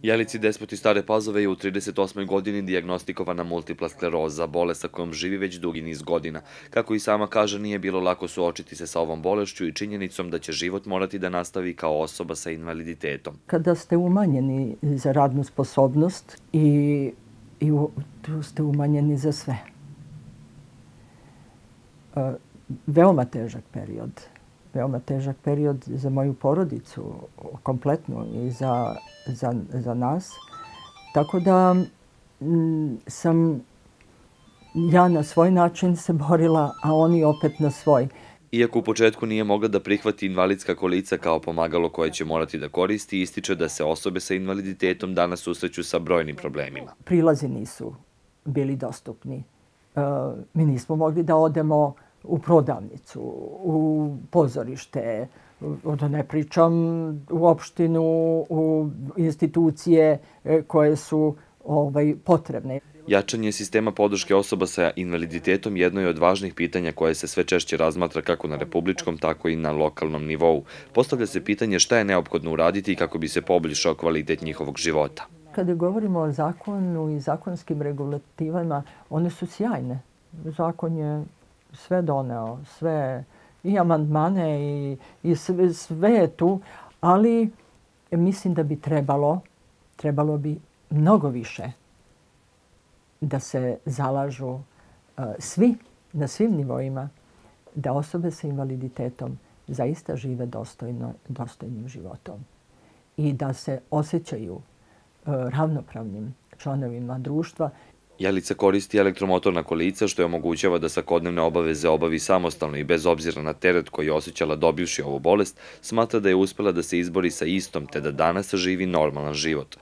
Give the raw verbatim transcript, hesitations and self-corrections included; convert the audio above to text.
Jelici Despot iz Stare Pazove je u trideset osmoj godini dijagnostikovana multipla skleroza, bolest sa kojom živi već dugi niz godina. Kako i sama kaže, nije bilo lako suočiti se sa ovom bolešću i činjenicom da će život morati da nastavi kao osoba sa invaliditetom. Kada ste umanjeni za radnu sposobnost i, i u, tu ste umanjeni za sve. E, veoma težak period. Veoma težak period za moju porodicu, kompletnu i za, za, za nas. Tako da m, sam ja na svoj način se borila, a oni opet na svoj. Iako u početku nije mogla da prihvati invalidska kolica kao pomagalo koje će morati da koristi, ističe da se osobe sa invaliditetom danas susreću sa brojnim problemima. Prilazi nisu bili dostupni. E, mi nismo mogli da odemo u prodavnicu, u pozorište, da ne pričam u opštinu, u institucije koje su ovaj, potrebne. Jačanje sistema podrške osoba sa invaliditetom jedno je od važnih pitanja koje se sve češće razmatra kako na republičkom, tako i na lokalnom nivou. Postavlja se pitanje šta je neophodno uraditi kako bi se poboljšao kvalitet njihovog života. Kada govorimo o zakonu i zakonskim regulativama, one su sjajne. Zakon je sve doneo, sve i amandmane i, i sve, sve je tu, ali mislim da bi trebalo, trebalo bi mnogo više da se zalažu uh, svi, na svim nivoima, da osobe sa invaliditetom zaista žive dostojno, dostojnim životom i da se osjećaju uh, ravnopravnim članovima društva. Jelica koristi elektromotorna kolica što je omogućava da svakodnevne obaveze obavi samostalno i bez obzira na teret koji je osjećala dobivši ovu bolest, smatra da je uspela da se izbori sa istom te da danas živi normalan život.